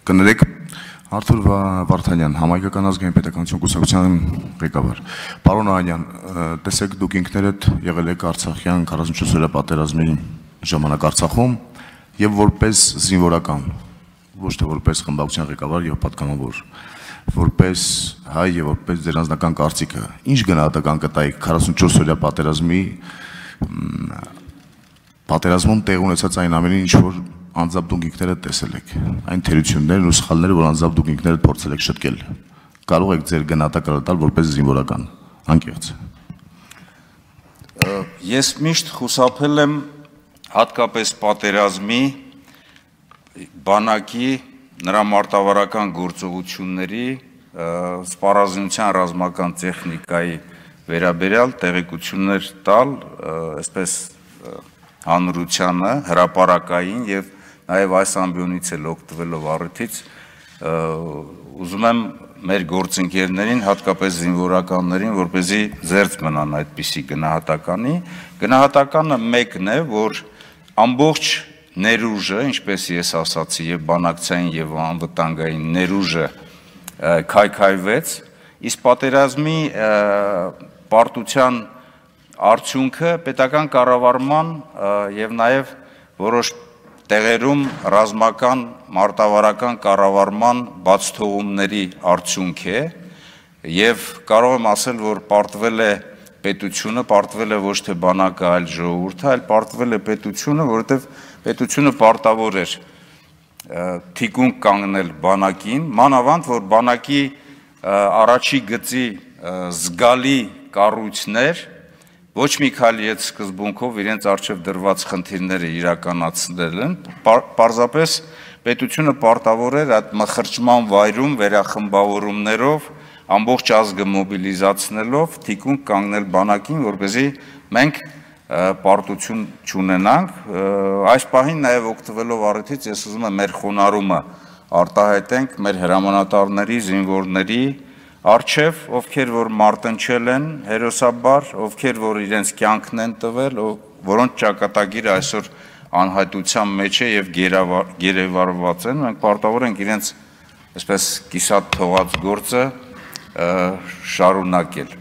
Կներեք Արթուր Վարդանյան, Համայնքական ազգային պետականություն կուսակցության ղեկավար։ Պարոն Անյան, տեսեք դուք ինքներդ եղել եք Արցախյան 44-օրյա պատերազմի ժամանակ Արցախում եւ որպես զինվորական, ոչ թե որպես խմբակցության ղեկավար եւ պատգամավոր, որպես հայ եւ որպես ձեր անձնական կարծիքը, ինչ գնահատական կտայիք 44-օրյա պատերազմում տեղ ունեցած այն ամենին, ինչ որ անձամբ դուք ինքներդ տեսել եք, այն թերություններն ու սխալները, որ անձամբ դուք ինքներդ փորձել եք շտկել, կարող եք ձեր գնահատականը տալ որպես զինվորական, անկեղծ։ Ես միշտ խուսափել եմ հատկապես պատերազմի, բանակի, նրա մարտավարական գործողությունների, սպառազինության ռազմական տեխնիկայի վերաբերյալ տեղեկություններ տալ, այսպես հանրությանը, հրապարակային եւ նաև այս ամբիոնից էլ օգտվելով առիթից ուզում եմ մեր գործընկերներին, հատկապես զինվորականներին, որպեսզի զերծ մնան այդպիսի գնահատականը մեկն է, որ ամբողջ ներուժը, ինչպես ես ասացի, եւ բանակցային եւ անվտանգային ներուժը քայքայվեց, իսկ պատերազմի պարտության արդյունքը պետական կառավարման եւ նաեւ որոշ տեղերում ռազմական մարտավարական կառավարման բացթողումների արդյունք է եւ կարող եմ ասել, որ պարտվել է պետությունը, պարտվել է ոչ թե բանակը, այլ ժողովուրդը, այլ պարտվել է պետությունը, որովհետեւ պետությունը պարտավոր էր թիկունք կանգնել բանակին, մանավանդ որ բանակի առաջի գծի զգալի կառույցներ ոչ մի քանի այդ սկզբունքով իրենց արժև դրված խնդիրները իրականացնել են, պարզապես պետությունը պարտավոր էր այդ մխրճման վայրում վերախմբավորումներով ամբողջ ազգը մոբիլիզացնելով թիկունք կանգնել բանակին, որպեսզի մենք պարտություն չունենանք, այս պահին նաև օգտվելով առիթից ես ուզում եմ մեր խոնարհումը արտահայտենք մեր հրամանատարների, զինվորների Արչև, ովքեր որ մարտնչել են հերոսաբար, ովքեր որ իրենց կյանքն են տվել, որոնց ճակատագիրը այսօր անհայտության մեջ է եւ գերեվարված են, մենք պարտավոր ենք իրենց այսպես կիսատ թողած գործը շարունակել։